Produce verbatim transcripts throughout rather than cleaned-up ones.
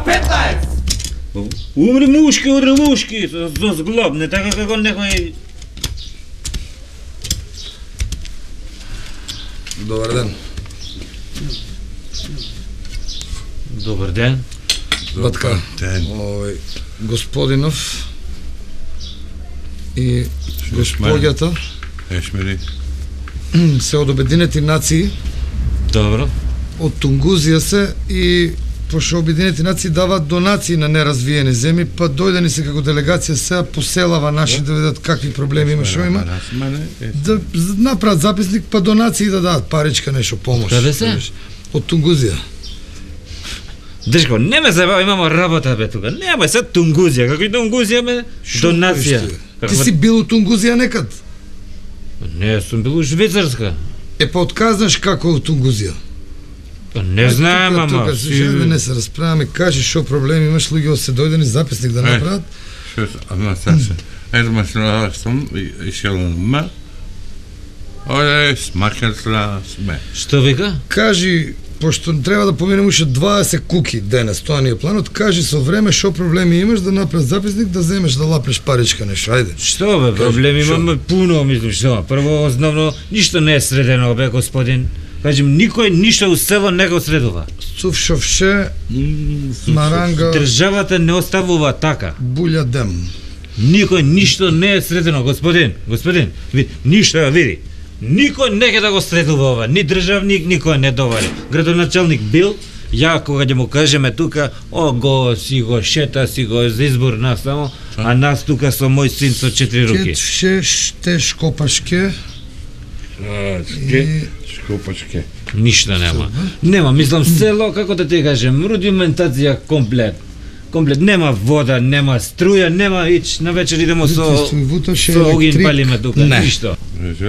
петнаесет! Умри мушки, удри мушки, со зглоб, не така како некој... Добар ден. Добар ден. Батка, овој господинов и господјата Ешмери се од Обединети нации. Добро. Од Тунгузија се и пошто Обединети нации даваат донации на неразвиени земји, па дојдени се како делегација сега поселава наши да видат какви проблеми има, што има. Да направат записник, па донации да дадат паричка, нешто помош. Каде се? Од Тунгузија. Држко, не ме забава, имамо работа бе тука. Нема се Тунгузија, како и Тунгузија ме донација. Ти си бил у Тунгузија некад? Не, сум бил у Швицарска. Е, па отказнаш како у Тунгузија? Па не знаем, ама... Тука, тука, не се расправаме, кажи шо проблеми имаш, луѓе се дојдени записник да направат. Шо, ама се, ето ме сум и шелма. Оле, смакерсла сме. Што вика? Кажи, пошто треба да поминем уште дваесет куки денес, тоа ни е планот, кажи со време шо проблеми имаш да направиш записник, да земеш да лапнеш паричка нешто, ајде. Што бе, проблеми имаме пуно, мислам, што? Прво, основно, ништо не е средено, бе, господин. Кажем, никој ништо у село не го средува. Цувшовше, маранга... Државата не оставува така. Булја дем. Никој ништо не е средено, господин. Господин, види, ништо, види. Никој не ќе да го средува ова, ни државник, никој не довари. Градоначалник бил, ја кога ќе му кажеме тука, о, го си го шета, си го за избор нас само, а нас тука со мој син со четири руки. Кетше, ште, шкопашке... И... Шкопачке. Ништо нема. Нема, мислам, село, како да ти кажем, рудиментација комплет. Комплет, нема вода, нема струја, нема ич, на вечер идемо со... со огин палиме тука, ништо.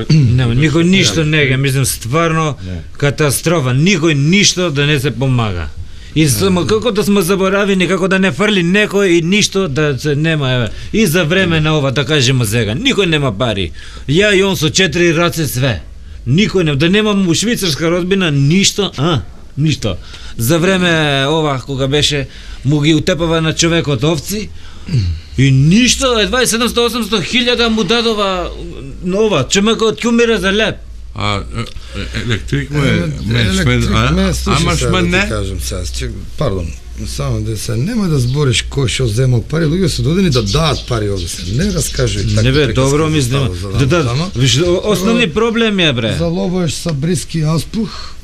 Нема, никој ништо не ге, мислам, стварно катастрофа, никој ништо да не се помага. И само како да сме заборавени, како да не фрли некој и ништо да се нема, еве. И за време на ова, да кажеме сега, никој нема пари. Ја и он со четири раце све. Никој не, да немам у швицарска родбина ништо, а, ништо. За време ова кога беше му ги утепава на човекот овци и ништо, едва и седумстотини до осумстотини хиљада му дадова нова, човекот ќе умира за леп. А електрик ме Електрик ме, ама слушай сега не. да ти кажам сега, пардон, само да се нема да збориш кој што земал пари, луѓе се додени да дадат пари овде се. Не раскажи така. Не бе, добро мислам. Да да, виж, основни проблеми е бре. Залобаш са бриски аспух.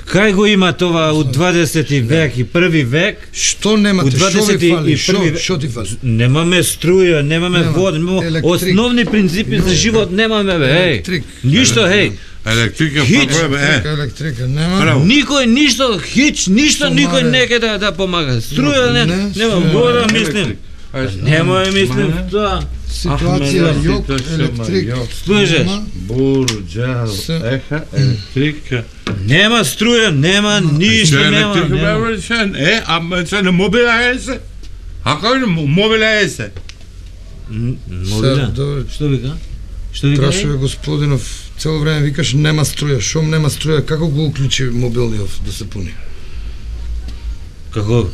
Кај го има това од дваесети век и први век? Што немате, што ви фали, што, што ти фали? Немаме струја, немаме вода, немаме основни принципи за живот, немаме бе, еј. Ништо, еј. Електрика проблем е. Електрика нема. Никој ништо, хич, ништо никој не ке да да помага. Струја не, нема вода, мислим. Нема мислим тоа. Ситуација јок, електрик. Слушаш? Бурџал, еха, електрика. Нема струја, нема ништо, нема. Е, ама се не мобила е се. Ако не мобила е се. Мобила? Што вика? Што вика? Прашуве господинов, цело време викаш нема струја, шом нема струја, како го уклучи мобилниот да се пуни? Како?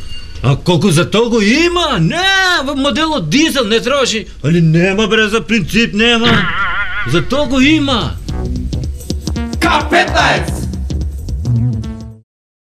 А колку за толку има? Не, во моделот дизел не троши. Али нема бре, за принцип нема. За толку има. К петнаесет!